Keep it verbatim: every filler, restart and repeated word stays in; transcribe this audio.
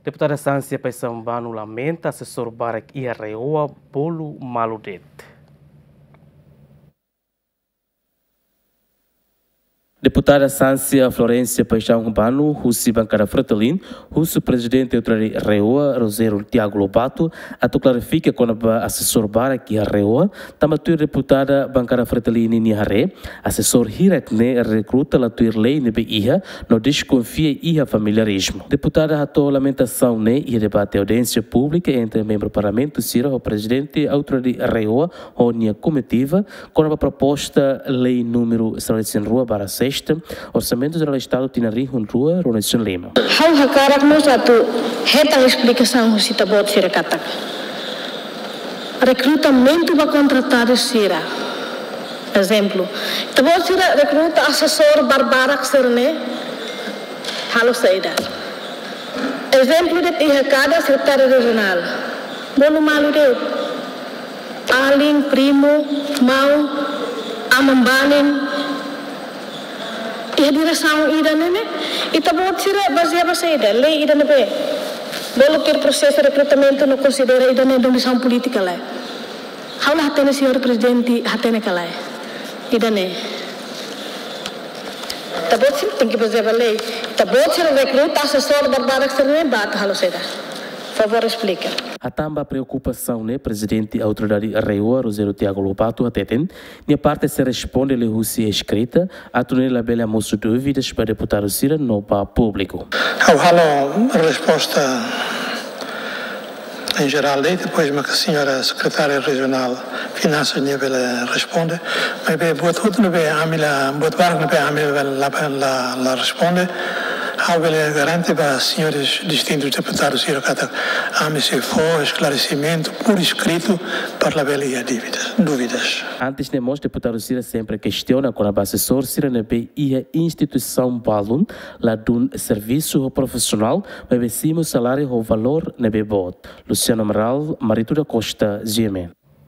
Deputada Sancia Paixão Bano lamenta asesór barak iha RAEOA bolu malu de'it. Deputada Sancia Florencia Paixão Bano, husi bankada Fretilin, husu Prezidente Autoridade RAEOA, Rogério Tiago Lobato, atu klarifika kona-ba asesór barak iha RAEOA, tanba tuir deputada bankada Fretilin nian haree, asesór hirak ne'e rekruta la tuir lei ne'ebé iha, no deskonfia iha familiarizmu. Deputada hato'o lamentasaun ne'e iha debate audiénsia públika entre membru Parlamentu sira ho Prezidente Autoridade RAEOA ho nia komitiva, kona-ba proposta lei númeru seratus rua barra sexta, Orsamentu Jerál Estadu tinan rihun rua, rua neen lima. Ha'u hakarak mós atu hetan esplikasaun husi ita-boot sira katak rekrutamentu ba kontratadu sira. Ezemplu, ita-boot sira rekruta asesór barbarak sira-ne'e halo saida? Ezemplu de'it iha kada sekretáriu rejionál. Bolu malu de'it. Alin, primu, maun, aman-banin. Iha diresaun ida-ne'e ne'e, ita-boot sira bazeia ba saida? Lei ida ne'ebé bolu tuir prosesu rekrutamentu no konsidera ida-ne'e nomisaun polítika lae? Ha'u la hatene, señór Prezidente hatene ka lae? Ida-ne'e. Ita-boot sira tenke bazeia ba lei. Ita-boot sira rekruta asesór barbarak sira-ne'e ba atu halo saida? Favór esplika. Hatán ba preokupasaun ne'e, Prezidente Autoridade RAEOA, Rogério Tiago Lobato, hateten, nia parte sei responde liuhusi eskrita, atu nune'e labele hamosu dúvidas ba deputadu sira no ba públiku. Ha'u halo resposta em geral, e depois mak señora sekretária rejionál finansas nia bele responde. Maibé buat hotu ne'ebé ami la, buat barak ne'ebé ami la, la, la, la responde, ha'u bele garante ba señores distintus deputadu sira katak ami sei fó esklaresimentu por escrito para labele iha dúvidas, dúvidas. Antes ne'e mós deputadu sira sempre kestiona kona-ba asesór sira ne'ebé iha instituisaun balun, ladún servisu ho profisionál, maibé simu saláriu ho valór ne'ebé boot. Luciano Amaral, Marito da Costa, GMN.